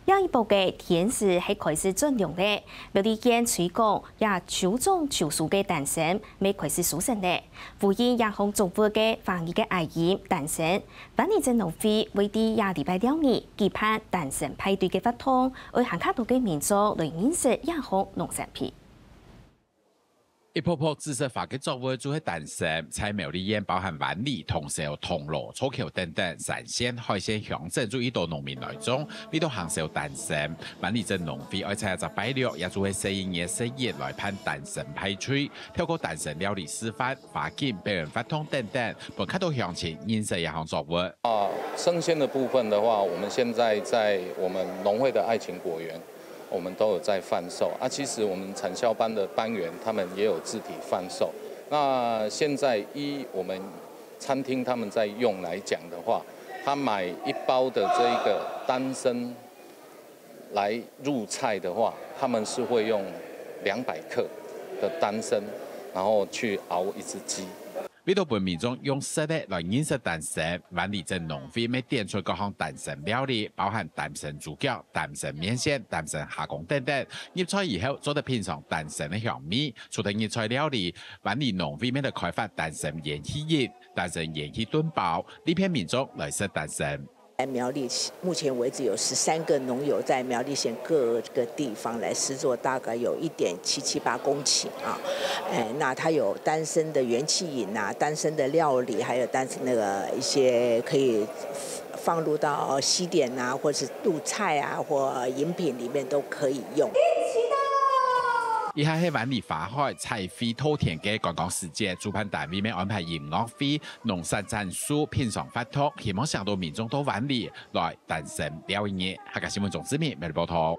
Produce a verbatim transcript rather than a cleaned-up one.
這一駁个天時係開始轉涼咧，苗栗縣推廣這秋種秋收个丹參乜開始收成咧。呼應這項作物个華語个諧音丹參，灣裡鎮農會會在這禮拜六日舉辦丹參派對个活動，愛還較多个民眾來認識這項農產品。 一駁駁紫色花个作物就係丹參，在苗栗縣包含灣裡、通霄、銅鑼、草橋等等，山線、海線鄉鎮就已多農民來種，為著行銷丹參。灣裡鎮農會愛在這隻拜六，也就係十一月十一來辦丹參派對，透過丹參料理示範、花景、表演活動等等，分較多鄉親認識這項作物。啊，生鮮的部分的話，我們現在在我們農會的愛情果園，我們都有在販售。啊，其實我們產銷班的班員他們也有自體販售。那現在依我們餐廳他們在用來講的話，他買一包的這個丹參來入菜的話，他們是會用兩百克的丹參，然後去熬一隻雞。 為著分民眾用食个來認識丹參，灣裡鎮農會乜展出各項丹參料理，包含丹參豬腳、丹參麵線、丹參蝦公等等。入菜以後，做得品嚐丹參个香味。除忒入菜料理，灣裡農會乜來開發丹參菸氣飲、丹參菸氣燉包，利便民眾來食丹參。 在苗栗目前為止有十三個農友在苗栗縣各個地方來施作，大概有一點七七八公頃啊。哎，那它有丹參的菸氣飲啊，丹參的料理，還有丹參那個一些可以放入到西點啊，或是入菜啊，或飲品裡面都可以用。以下係灣裡花海彩繪透天个觀光時節，主辦單位乜安排音樂會、農產展示、品嚐活動，希望吸引到民眾到灣裡來 丹參尞一日。客家新聞鍾志明，每日報導。